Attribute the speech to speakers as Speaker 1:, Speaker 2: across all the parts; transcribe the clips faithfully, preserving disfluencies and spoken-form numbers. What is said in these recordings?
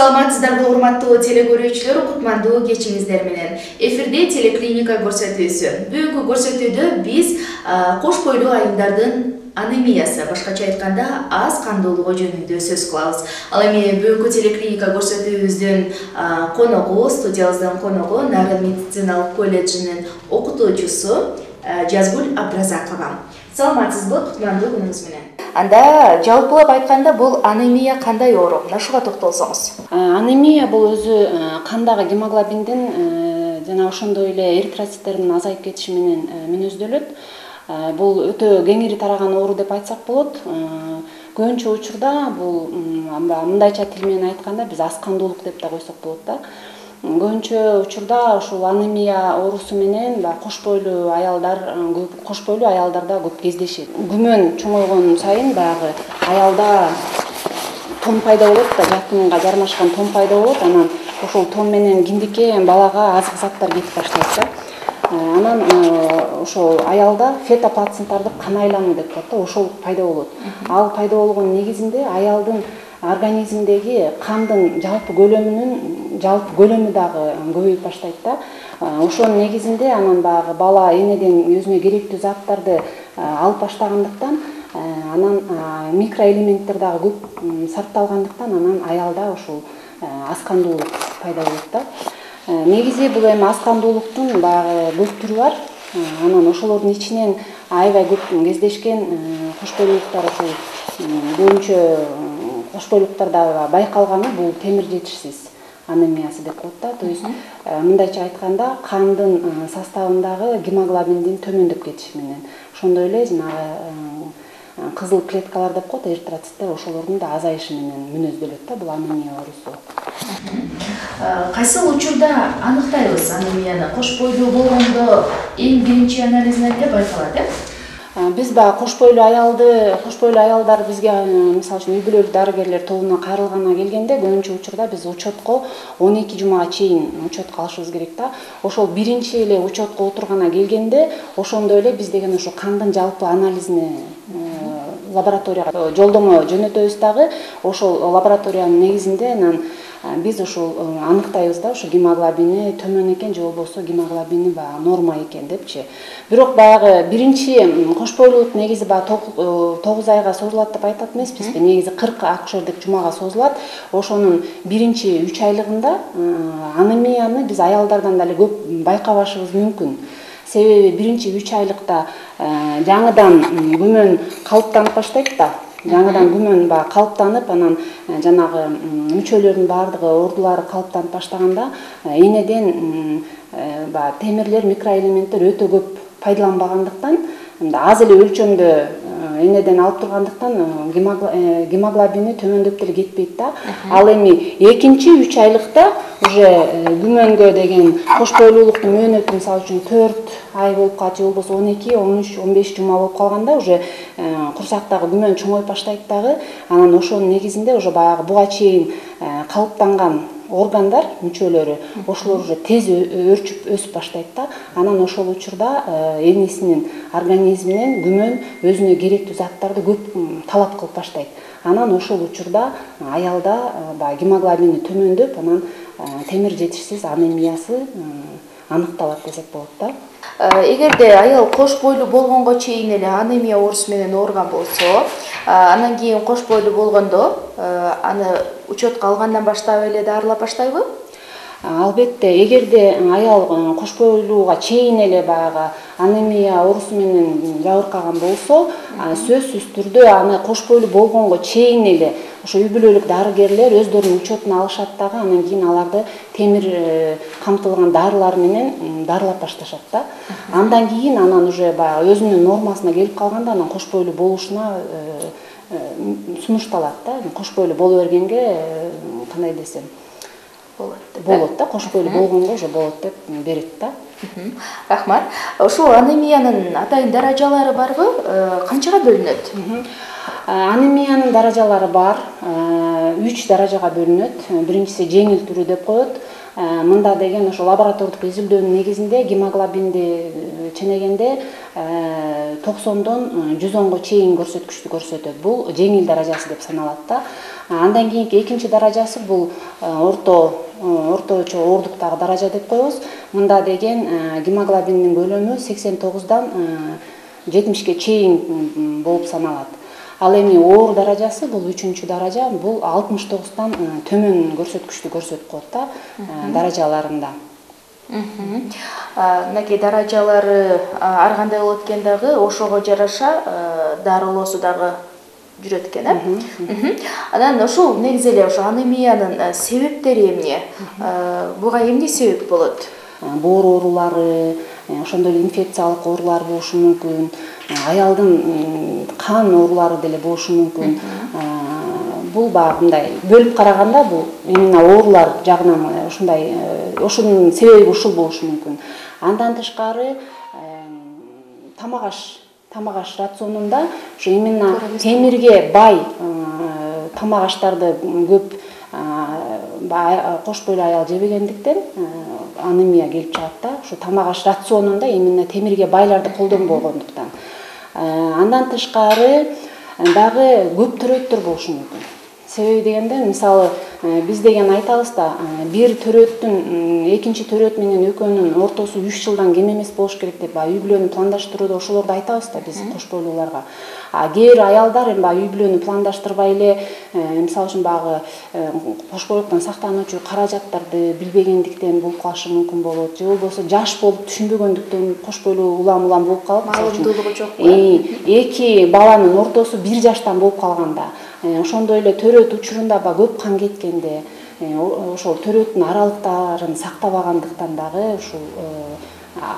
Speaker 1: Саламатсыздарбы урматтуу телекөрүүчүлөр, кутмандуу кечиңиздер менен. Эфирде телеклиника көрсөтүүсү. Бүгүнкү көрсөтүүдө биз кош бойлуу айылдардын анемиясы, башкача айтканда аз кандуулугу жөнүндө сөз кылабыз. Ал эми бүгүнкү телеклиника көрсөтүүбүздүн коногу, студиябыздын коногу Нарын медициналык колледжинин окутуучусу Жазгүл Абдразакова. Саламатсызбы, кутмандуу күнүңүз менен. Анда жалпылап айтканда бул анемия кандай оору? Мына ушуга токтолсоңуз.
Speaker 2: Анемия бул өзү кандагы гемоглобиндин жана ошондой эле эритроциттердин азайып кетиши менен мүнөздөлөт. Бул өтө кеңири тараган оору деп айтсак болот. Көбүнчө учурда бул мындайча тил менен айтканда биз аз кандуулук деп да койсок болот да. Көбүнчө учурда ушул анемия оорусу менен кош бойлуу аялдар, кош бойлуу аялдарда көп кездешет. Күмөн чоңойгон сайын баягы аялда тон пайда болот да, жакынга жармашкан тон пайда болот. Анан ошол тон менен кимдикке балага азык заттар кетип баштайт да. Анан ошол аялда фетоплацентардык кан айлануу деп коет да, ошол пайда болот. Ал пайда болгон негизинде аялдын организмдеги кандын жалпы көлөмүнүн жалпы көлөмү дагы көбөйүп баштайт да. Ошонун негизинде анан баягы бала энеден өзүнө керектүү заттарды алып баштагандыктан, анан микроэлементтер дагы көп сарпталгандыктан, анан аялда ушул аз кандуулук пайда болот да. Негизи бул эми аз кандуулуктун баягы көп түрү бар. Анан ошолордун ичинен аябай көп кездешкен кош бойлуулуктар, ушул көбүнчө кош бойлуулуктарда байкалганы бул темир жетишсиз анемиясы деп коет да. То есть мындайча айтканда кандын составындагы гемоглобиндин төмөндөп кетиши менен, ошондой эле жанагы кызыл клеткалар деп коет, эритроциттер, ошолордун да азайышы менен мүнөздөлөт да бул анемия оорусу.
Speaker 1: Кайсы учурда аныктайбыз анемияны? Кош бойлуу болгондо эң биринчи анализине эле байкалат, э?
Speaker 2: Биз баягы кош бойлуу аялды, кош бойлуу аялдар бизге мисалы үчүн үй бүлөлүк дарыгерлер тобуна кайрылгана келгенде көбүнчө учурда биз учетко он эки жумага чейин учетко алышыбыз керек да. Ошол биринчи эле учетко отургана келгенде ошондой эле биз деген ошо кандын жалпы анализине лабораторияга жолдомо жөнөтөбүз дагы. Ошол лабораториянын негизинде анан биз ошол аныктайбыз да, ошо гемоглобини төмөн экен же болбосо гемоглобини баягы норма экен депчи. Бирок баягы биринчи кош бойлуулук негизи баягы тогуз айга созулат деп айтат эмеспизби? Негизи кырк акушердик жумага созулат. Ошонун биринчи үч айлыгында анемияны биз аялдардан дагы көп байкабашыбыз мүмкүн. Себеби биринчи үч айлыкта жаңыдан күмөн калыптанып баштайт да. Жаңыдан күмөн баягы калыптанып, анан жанагы мүчөлөрдүн баардыгы, ордулары калыптанып баштаганда энеден баягы темирлер, микроэлементтер өтө көп пайдаланбагандыктан, аз эле өлчөмдө энеден алып тургандыктан гемоглобини төмөндөп деле кетпейт да. Ал эми экинчи үч айлыкта уже күмөнгө деген кош бойлуулуктун мөөнөтү мисалы үчүн төрт ай болуп калат, же болбосо он эки, он үч, он беш жума болуп калганда уже курсактагы күмөн чоңоюп баштайт дагы. Анан ошонун негизинде уже баягы буга чейин калыптанган органдар, мүчөлөрү, ошолор уже тез өрчүп өсүп баштайт да. Анан ошол учурда энесинин организминен күмөн өзүнө керектүү заттарды көп талап кылып баштайт. Анан ошол учурда аялда баягы гемоглобини төмөндөп, анан темир жетишсиз анемиясы аныкталат десек болот да.
Speaker 1: Эгерде аял кош бойлуу болгонго чейин эле анемия оорусу менен ооруган болсо, анан кийин кош бойлуу болгондо аны учетко алгандан баштап эле дарылап баштайбы?
Speaker 2: Албетте, эгерде аял кош бойлууга чейин эле баягы анемия оорусу менен жабыркаган болсо, сөзсүз түрдө аны кош бойлуу болгонго чейин эле ошо үй бүлөлүк дарыгерлер өздөрүнүн учетуна алышат дагы, анан кийин аларды темир камтылган дарылар менен дарылап башташат да. Андан кийин анан уже баягы өзүнүн нормасына келип калганда, анан кош бойлуу болушуна сунушталат да. Кош бойлуу боло бергенге кандай десем болот болот да, кош бойлуу болгонго уже болот деп берет да.
Speaker 1: Рахмат. Ушул анемиянын атайын даражалары барбы? Канчага бөлүнөт?
Speaker 2: Анемиянын даражалары бар. үч даражага бөлүнөт. Биринчиси жеңил түрү деп коет. Мында деген ошо лаборатордук изилдөөнүн негизинде гемоглобинди ченегенде токсондон жүз онго чейин көрсөткүчтү көрсөтөт. Бул жеңил даражасы деп саналат да. Андан кийинки экинчи даражасы бул орто орточо оорундуктагы даража деп коебуз. Мында деген гемоглобиндин көлөмү сексен тогуздан жетимишке чейин болуп саналат. Ал эми оор даражасы бул үчүнчү даража, бул алтымыш тогуздан төмөн көрсөткүчтү көрсөтүп коет да даражаларында.
Speaker 1: Мынакей даражалары ар кандай болот экен дагы, ошого жараша дарылоосу дагы жүрөт экен, э? Анан ошол негизи эле ошо анемиянын себептери эмне? Буга эмне себеп болот?
Speaker 2: Боор оорулары, ошондой эле инфекциялык оорулар болушу мүмкүн, аялдын кан оорулары деле болушу мүмкүн. Бул баягы мындай бөлүп караганда бул именно оорулар жагынан ушундай, ошонун себеби ушул болушу мүмкүн. Андан тышкары тамак аш тамак аш рационунда ушу именно темирге бай тамак аштарды көп кош бойлуу аял жебегендиктен анемия келип чыгат да. Ушу тамак аш рационунда именно темирге байларды колдонбогондуктан. Андан тышкары дагы көп төрөттөр болушу мүмкүн. Себеби дегенде, мисалы, биз деген айтабыз да, бир төрөттүн экинчи төрөт менен экөөнүн ортосу үч жылдан кем эмес болуш керек деп, үй бүлөнү пландаштырууда ошолорду айтабыз да биз кош бойлууларга. А кээ бир аялдар эми үй бүлөнү пландаштырбай эле, мисалы үчүн багы кош бойлуктан сактануучу каражаттарды билбегендиктен болуп калышы мүмкүн болот, же болбосо жаш болуп түшүнбөгөндүктөн кош бойлуу улам-улам болуп калып,
Speaker 1: маалымдуулугу жок.
Speaker 2: Эки баланын ортосу бир жаштан болуп калганда, ошондой эле төрөт учурунда ба көп кан кеткенде, ошол төрөттүн аралыктарын сактабагандыктан дагы ушул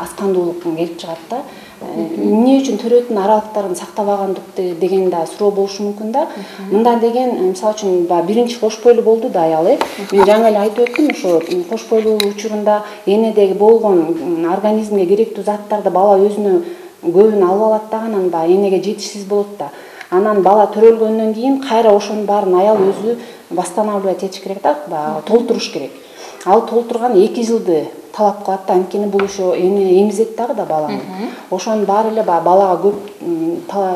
Speaker 2: аскандуулук келип чыгат да. Эмне үчүн төрөттүн аралыктарын сактабагандык деген да суроо болушу мүмкүн да. Мында деген, мисалы үчүн, биринчи кош бойлуу болду да аял, э. Мен жаңы эле айтып өттүм, ошо кош бойлуу учурунда энедеги болгон организмге керектүү заттарды бала өзүнө көбүн алып алат да, анан баягы энеге жетишсиз болот да. Анан бала төрөлгөндөн кийин кайра ошонун баарын аял өзү восстанавливать этиш керек да, баягы толтуруш керек. Ал толтурган эки жылды талап кылат да, анткени бул ошо эне эмизет дагы да баланы. Ошонун баары эле баягы балага көп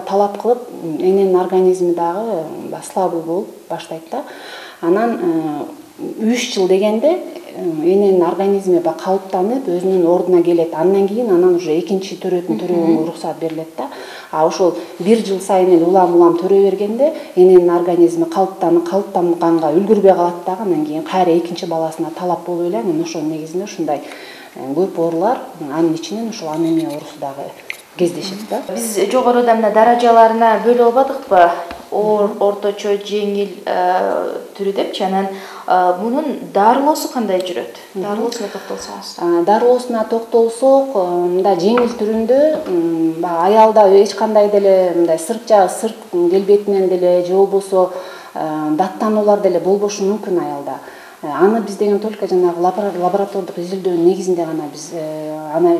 Speaker 2: талап кылып, эненин организми дагы слабый болуп баштайт да. Анан үч жыл дегенде эненин организми ба калыптанып, өзүнүн ордуна келет. Андан кийин анан уже экинчи төрөтүн төрөгөнгө уруксат берилет да. А ошол бир жыл сайын эле улам-улам төрө бергенде эненин организми калыптанып, калыптанганга үлгүрбөй калат дагы, андан кийин кайра экинчи баласына талап болуп эле, анан ошонун негизинде ушундай көп оорулар, анын ичинен ушул анемия оорусу дагы кездешет да.
Speaker 1: Биз жогоруда мына даражаларына бөлүп албадыкпы? Оор, орточо, жеңил түрү депчи. Анан мунун дарылоосу кандай жүрөт? Дарылоосуна токтолсоңуз.
Speaker 2: Дарылоосуна токтолсок, мында жеңил түрүндө аялда эч кандай деле мындай сырт жагы сырт келбетинен деле же болбосо даттануулар деле болбошу мүмкүн аялда. Аны биз деген только жанагы лаборатордук изилдөөнүн негизинде гана биз аны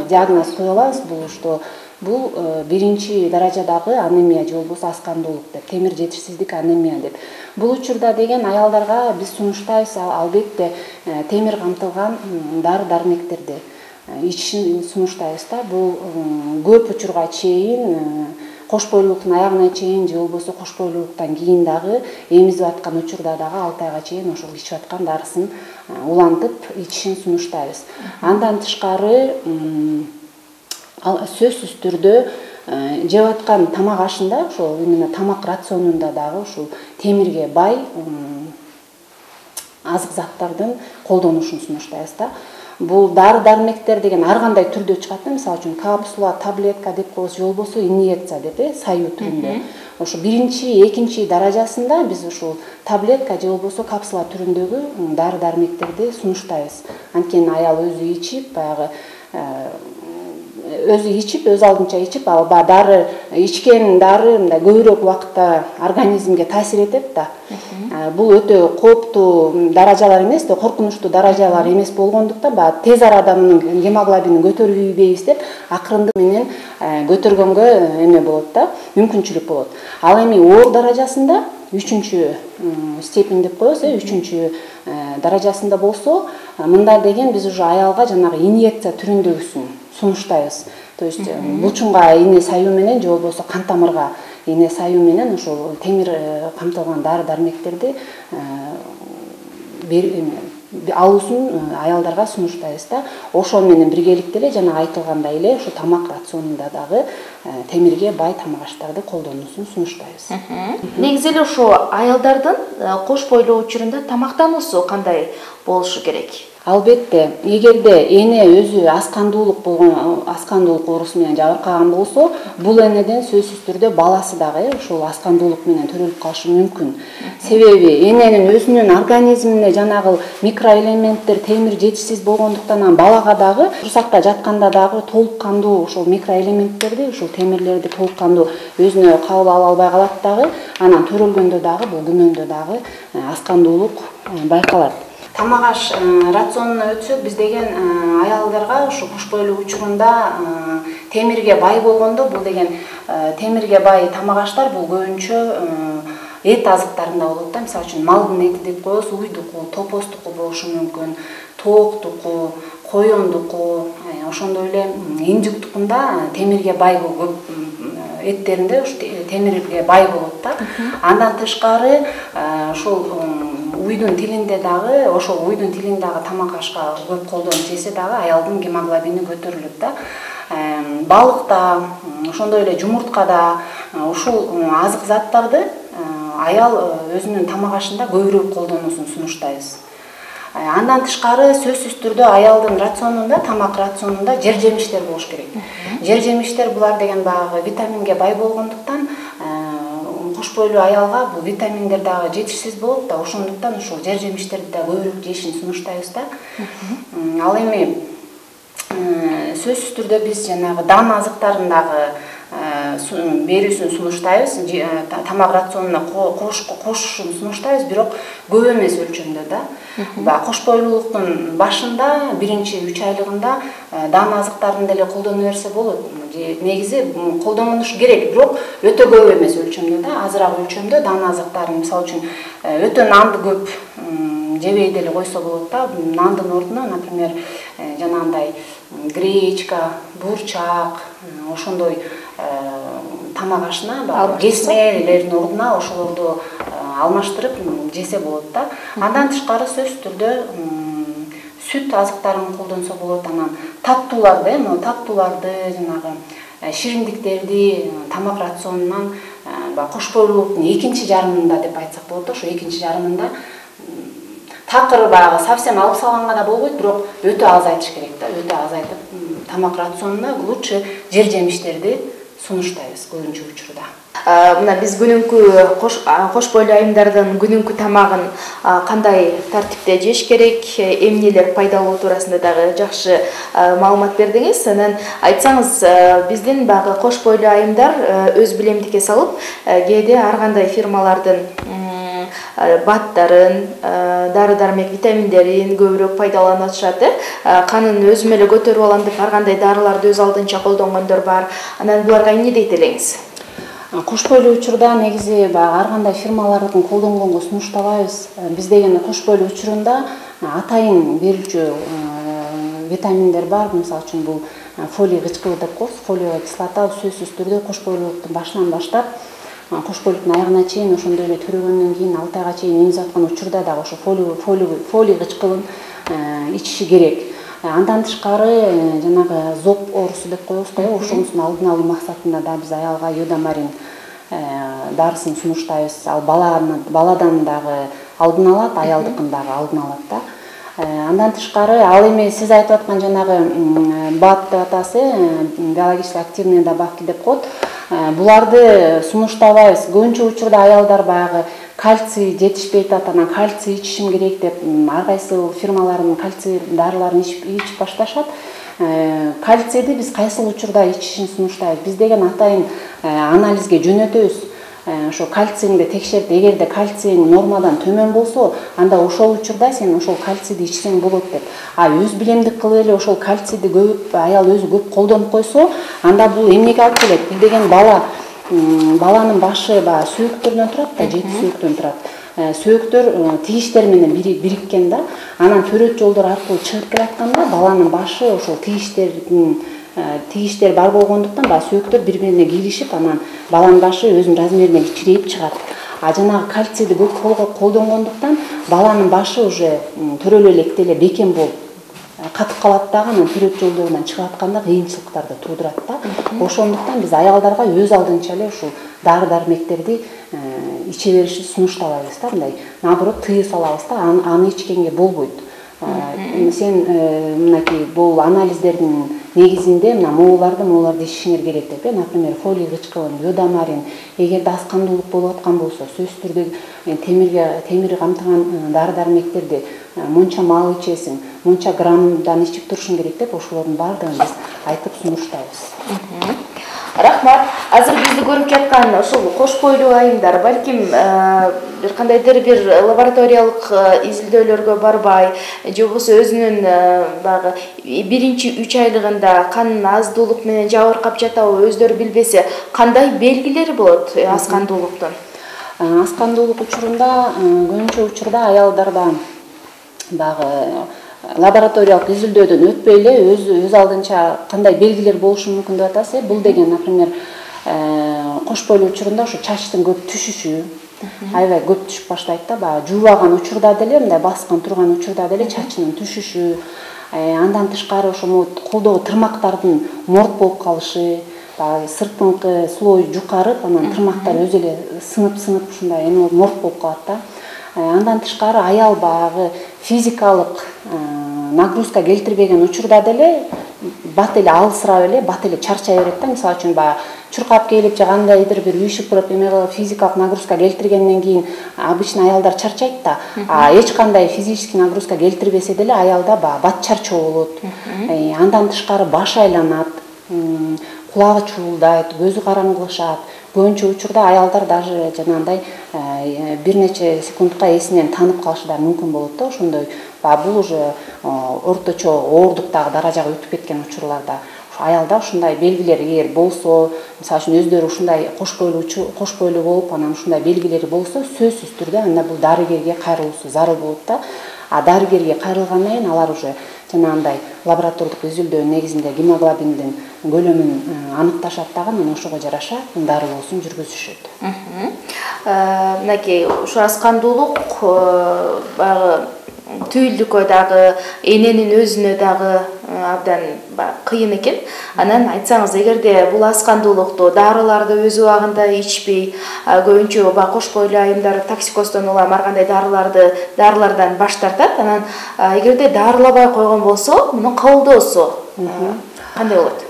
Speaker 2: диагноз кое алабыз. Бул что бул биринчи даражадагы анемия же болбосо аскандуулук деп, темир жетишсиздик анемия деп. Бул учурда деген аялдарга биз сунуштайбыз албетте темир камтылган дары-дармектерди ичишин сунуштайбыз да. Бул көп учурга чейин кош бойлуулуктун аягына чейин же болбосо кош бойлуулуктан кийин дагы эмизип аткан учурда дагы алты айга чейин ошол ичип аткан дарысын улантып ичишин сунуштайбыз. Андан тышкары сөзсүз түрдө жеп аткан тамак ашында, ошол именно тамак рационунда дагы ушул темирге бай азык заттардын колдонушун сунуштайбыз да. Бул дары-дармектер деген ар кандай түрдө чыгат да, мисалы үчүн капсула, таблетка деп коебуз, же болбосо инъекция деп, э, саю түрүндө. Ошо биринчи, экинчи даражасында биз ушул таблетка же болбосо капсула түрүндөгү дары-дармектерди сунуштайбыз. Анткени аял өзү ичип, баягы өзү ичип, өз алдынча ичип, ал дары ичкен дары мындай көбүрөөк убакытта организмге таасир этет да. Бул өтө кооптуу даражалар эмес да, коркунучтуу даражалар эмес болгондуктан баягы тез арада мунун гемоглобинин көтөрүлбөйбүз деп акырындык менен көтөргөнгө эме болот да, мүмкүнчүлүк болот. Ал эми оор даражасында үчүнчү степень деп коебуз, э, үчүнчү даражасында болсо, мында деген биз уже аялга жанагы инъекция түрүндөгүсүн сунуштайбыз. То есть булчуңга ийне саюу менен же болбосо кан тамырга ийне саюу менен ошол темир камтылган дары дармектерди алуусун аялдарга сунуштайбыз да. Ошол менен биргеликте эле жана айтылгандай эле ошо тамак рационунда дагы темирге бай тамак аштарды колдонуусун сунуштайбыз.
Speaker 1: Негизи эле ошо аялдардын кош бойлуу учурунда тамактануусу кандай болушу керек?
Speaker 2: Албетте, эгерде эне өзү аскандуулук болгон, аскандуулук оорусу менен жабыркаган болсо, бул энеден сөзсүз түрдө баласы дагы ошол аскандуулук менен төрөлүп калышы мүмкүн. Себеби эненин өзүнүн организмине жанагы микроэлементтер, темир жетишсиз болгондуктан анан балага дагы курсакта жатканда дагы толук кандуу ошол микроэлементтерди, ушул темирлерди толук кандуу өзүнө кабыл ала албай калат дагы, анан төрөлгөндө дагы бул күнөндө дагы аскандуулук байкалат. Тамак аш рационуна өтсөк, биз деген аялдарга ушу кош бойлуу учурунда темирге бай болгондо, бул деген темирге бай тамак аштар бул көбүнчө эт азыктарында болот да. Мисалы үчүн малдын эти деп коебуз, уйдуку, топостуку болушу мүмкүн, тооктуку, коёндуку, ошондой эле инжиктукунда темирге бай көп эттеринде ушу темирге бай болот да. Андан тышкары ошол уйдун тилинде дагы, ошол уйдун тилин дагы тамак ашка көп колдонуп жесе дагы аялдын гемоглобини көтөрүлөт да. Балыкта, ошондой эле жумурткада ушул азык заттарды аял өзүнүн тамак ашында көбүрөөк колдонуусун сунуштайбыз. Андан тышкары сөзсүз түрдө аялдын рационунда, тамак рационунда жер жемиштер болуш керек. Жер жемиштер булар деген баягы витаминге бай болгондуктан кош бойлуу аялга бул витаминдер дагы жетишсиз болот да, ошондуктан ушул жер жемиштерди да көбүрөөк жешин сунуштайбыз да. Ал эми сөзсүз түрдө биз жанагы дан азыктарын дагы берүүсүн сунуштайбыз, тамак рационуна кошушун сунуштайбыз, бирок көп эмес өлчөмдө да. Баягы кош бойлуулуктун башында, биринчи үч айлыгында дан азыктарын деле колдоно берсе болот. Негизи колдонуш керек, бирок өтө көп эмес өлчөмдө да, азыраак өлчөмдө дан азыктарын, мисалы үчүн өтө нанды көп жебей деле койсо болот да. Нандын ордуна, например, жанагындай гречка, бурчак, ошондой тамак ашына, кесмелердин ордуна ошолорду алмаштырып жесе болот да. Андан тышкары сөзсүз түрдө сүт азыктарын колдонсо болот. Анан таттууларды, могу таттууларды, жанагы шириндиктерди тамак рационунан кош бойлуулуктун экинчи жарымында деп айтсак болот да. Ошо экинчи жарымында такыр баягы совсем алып салганга да болбойт, бирок өтө азайтыш керек да. Өтө азайтып тамак рационуна лучше жер жемиштерди сунуштайбыз көбүнчө учурда.
Speaker 1: Мына биз күнүнкү кош бойлуу айымдардын күнүнкү тамагын кандай тартипте жеш керек, эмнелер пайдалуу туурасында дагы жакшы маалымат бердиңиз. Анан айтсаңыз, биздин баягы кош бойлуу айымдар өз билемдикке салып, кээде ар кандай фирмалардын баттарын, дары-дармек витаминдерин көбүрөөк пайдаланып атышат. Канын өзүм эле көтөрүп алам деп ар кандай дарыларды өз алдынча колдонгондор бар. Анан буларга эмне дейт элеңиз?
Speaker 2: Кош бойлуу учурда негизи баягы ар кандай фирмалардын колдонгонго сунуштабайбыз. Биз деген кош бойлуу учурунда атайын берүүчү витаминдер бар. Мисалы үчүн бул фолий кычкылы деп коебуз. Фолиевая кислота сөзсүз түрдө кош бойлуулуктун башынан баштап кош бойлуулуктун аягына чейин, ошондой эле төрөгөндөн кийин алты айга чейин эмизип аткан учурда дагы ошо фолий кычкылын ичиши керек. Андан тышкары жанагы зоб оорусу деп коебуз го, ошонусун алдын алуу максатында да биз аялга йодамарин дарысын сунуштайбыз. Ал баладан дагы алдын алат, аялдыкын дагы алдын алат да. Андан тышкары ал эми сиз айтып аткан жанагы бат деп атасы, биологически активные добавки деп коет. Буларды сунуштабайбыз. Көбүнчө учурда аялдар баягы кальций жетишпейт атат, анан кальций ичишим керек деп ар кайсы фирмалардын кальций дарыларын ичип башташат. Кальцийди биз кайсыл учурда ичишин сунуштайбыз. Биз деген атайын анализге жөнөтөбүз. Ошо кальцийди текшерип, эгерде кальцийң нормадан төмөн болсо, анда ошол учурда сен ошол кальцийди ичсең болот деп. А өз билемдик кылып эле ошол кальцийди көп аял өзү көп колдонуп койсо, анда бул эмнеге алып келет? Бул деген бала баланын башы баягы сөөктөрдөн турат да, жети сөөктөн турат. Сөөктөр тигиштер менен бириккен да. Анан төрөт жолдор аркылуу чыгып келатканда баланын башы ошол тигиштердин тигиштер бар болгондуктан баягы сөөктөр бири бирине киришип, анан баланын башы өзүнүн размерине кичирейип чыгат. А жанагы кальцийди көп колдонгондуктан баланын башы уже төрөлө электе эле бекем болуп катып калат дагы, анан төрөт жолдорунан чыгып атканда кыйынчылыктарды туудурат да. Ошондуктан биз аялдарга өз алдынча эле ушул дары дармектерди иче беришти сунуштабайбыз да, мындай наоборот тыюу салабыз да, аны ичкенге болбойт. Сен мынакей бул анализдердин негизинде мына моуларды моуларды ичишиңер керек деп, например, фолий кычкылын, йодамарин, эгерде аз кандуулук болуп аткан болсо, сөзсүз түрдө темирге темир камтыган дары-дармектерди монча мал ичесиң, монча граммдан ичип турушуң керек деп, ошолордун баардыгын биз айтып сунуштайбыз.
Speaker 1: Рахмат. Азыр бизди көрүп жаткан ушул кош бойлуу айымдар балким бир кандайдыр бир лабораториялык изилдөөлөргө барбай, же болбосо өзүнүн баягы биринчи үч айлыгында канын аздуулук менен жабыркап жатабы, өздөрү билбесе, кандай белгилери болот аз кандуулуктун?
Speaker 2: Аз кандуулук учурунда көбүнчө учурда аялдарда баягы лабораториялык изилдөөдөн өтпөй эле өз өз алдынча кандай белгилер болушу мүмкүн деп атасыз. Бул деген, например, кош бойлуу учурунда ушу чачтын көп түшүшү, аябай көп түшүп баштайт да, баягы жуубаган учурда деле, мындай баскан турган учурда деле чачынын түшүшү, андан тышкары ошо колдогу тырмактардын морт болуп калышы, баягы сыртыңкы слой жукарып, анан тырмактар өзү эле сынып-сынып ушундай эме морт болуп калат да. Андан тышкары аял баягы физикалык нагрузка келтирбеген учурда деле бат эле алысырап эле, бат эле чарчай берет да. Мисалы үчүн баягы чуркап келип же кандайдыр бир үйшүп туруп эме кылып физикалык нагрузка келтиргенден кийин обычно аялдар чарчайт да. А эч кандай физический нагрузка келтирбесе деле аялда баягы бат чарчоо болот. Андан тышкары баш айланат, кулагы чуулдайт, көзү караңгылашат. Көбүнчө учурда аялдар даже жанагындай бир нече секундка эсинен танып калышы да мүмкүн болот да. Ошондой баягы бул уже орточо ооруктагы даражага өтүп кеткен учурларда аялда ушундай белгилер эгер болсо, мисалы үчүн өздөрү ушундай кош бойлуу кош бойлуу болуп, анан ушундай белгилери болсо, сөзсүз түрдө анда бул дарыгерге кайрылуусу зарыл болот да. А дарыгерге кайрылгандан кийин алар уже жанагындай лаборатордук изилдөө негизинде гемоглобиндин көлөмүн аныкташат дагы, анан ошого жараша дарылоосун жүргүзүшөт.
Speaker 1: Мынакей ушу аз кандуулук баягы түйүлдүккө дагы, эненин өзүнө дагы абдан кыйын экен. Анан айтсаңыз, эгерде бул аз кандуулукту дарыларды өз убагында ичпей, көбүнчө баягы кош бойлуу айымдар токсикоздон улам ар кандай дарыларды дарылардан баш тартат. Анан эгерде дарылабай койгон болсо, мунун кабылдоосу кандай болот?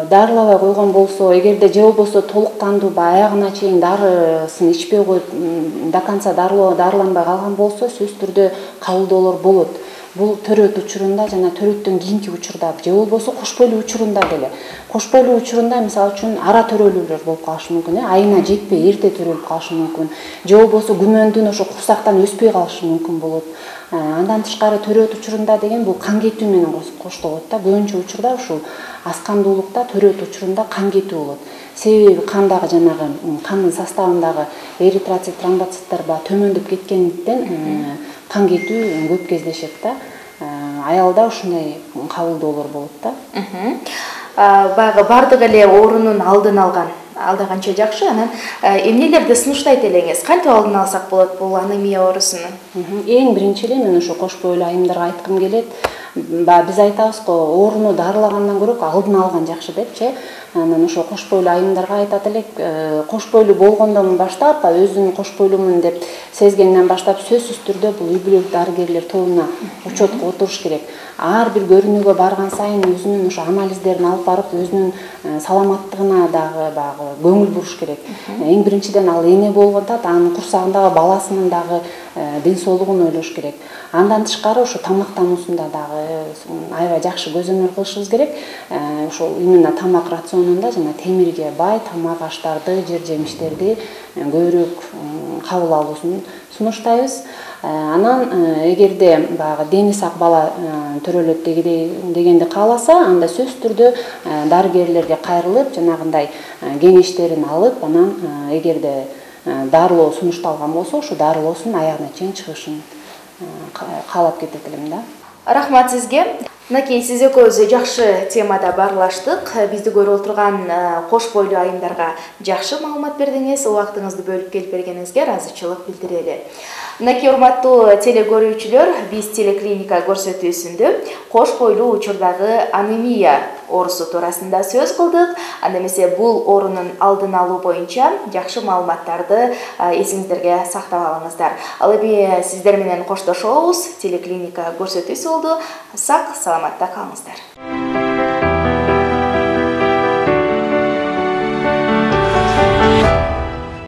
Speaker 2: Дарылабай койгон болсо, эгерде же болбосо толук кандуу аягына чейин дарысын ичпей коюп, до конца дарыланбай калган болсо, сөзсүз түрдө кабылдоолор болот. Бул төрөт учурунда жана төрөттөн кийинки учурда, же болбосо кош бойлуу учурунда деле. Кош бойлуу учурунда мисалы үчүн ара төрөлүүлөр болуп калышы мүмкүн, айына жетпей эрте төрөлүп калышы мүмкүн. Же болбосо күмөндүн ошо курсактан өспөй калышы мүмкүн болот. Андан тышкары төрөт учурунда деген бул кан кетүү менен коштолот да. Көбүнчө учурда ушул аз кандуулукта төрөт учурунда кан кетүү болот. Себеби кандагы жанагы кандын составындагы эритроцит, тромбоциттер ба төмөндөп кеткендиктен кан кетүү көп кездешет да. Аялда ушундай кабылдоолор болот да.
Speaker 1: Баягы бардык эле оорунун алдын алган алдаганча жакшы. Анан эмнелерди сунуштайт элеңиз? Кантип алдын алсак болот бул анемия оорусунун?
Speaker 2: Эң биринчи эле мен ошо кош бойлуу айымдарга айткым келет. Биз айтабыз го, ооруну дарылагандан көрө алдын алган жакшы депчи. Анан ошо кош бойлуу айымдарга айтат элек, кош бойлуу болгондон баштап, өзүн кош бойлуумун деп сезгенден баштап сөзсүз түрдө бул үй бүлөлүк дарыгерлер тобуна учетко отуруш керек. Ар бир көрүнүүгө барган сайын өзүнүн ошо анализдерин алып барып, өзүнүн саламаттыгына дагы багы көңүл буруш керек. Эң биринчиден ал эне болгондо анын курсагындагы баласынын дагы ден соолугун ойлош керек. Андан тышкары ошо тамактануусунда дагы аябай жакшы көзөмөл кылышыбыз керек. Ошол именно тамак рационунда жана темирге бай тамак аштарды, жер жемиштерди көбүрөөк кабыл алуусун сунуштайбыз. Анан эгерде баягы дени сак бала төрөлөт дегенди кааласа, анда сөзсүз түрдө дарыгерлерге кайрылып, жанагындай кеңештерин алып, анан эгерде дарылоо сунушталган болсо, ошо дарылоосун аягына чейин чыгышын каалап кетет элем да.
Speaker 1: Рахмат сизге. Мынакей сиз экөөбүз жакшы темада баарлаштык. Бизди көрүп отурган кош бойлуу айымдарга жакшы маалымат бердиңиз. Убактыңызды бөлүп келип бергениңизге ыраазычылык билдирели. Мынакей урматтуу телекөрүүчүлөр, биз телеклиника көрсөтүүсүндө кош бойлуу учурдагы анемия оорусу туурасында сөз кылдык. Анда эмесе бул оорунун алдын алуу боюнча жакшы маалыматтарды эсиңиздерге сактап алыңыздар. Ал эми сиздер менен коштошобуз. Телеклиника көрсөтүүсү болду. Сак саламатта калыңыздар.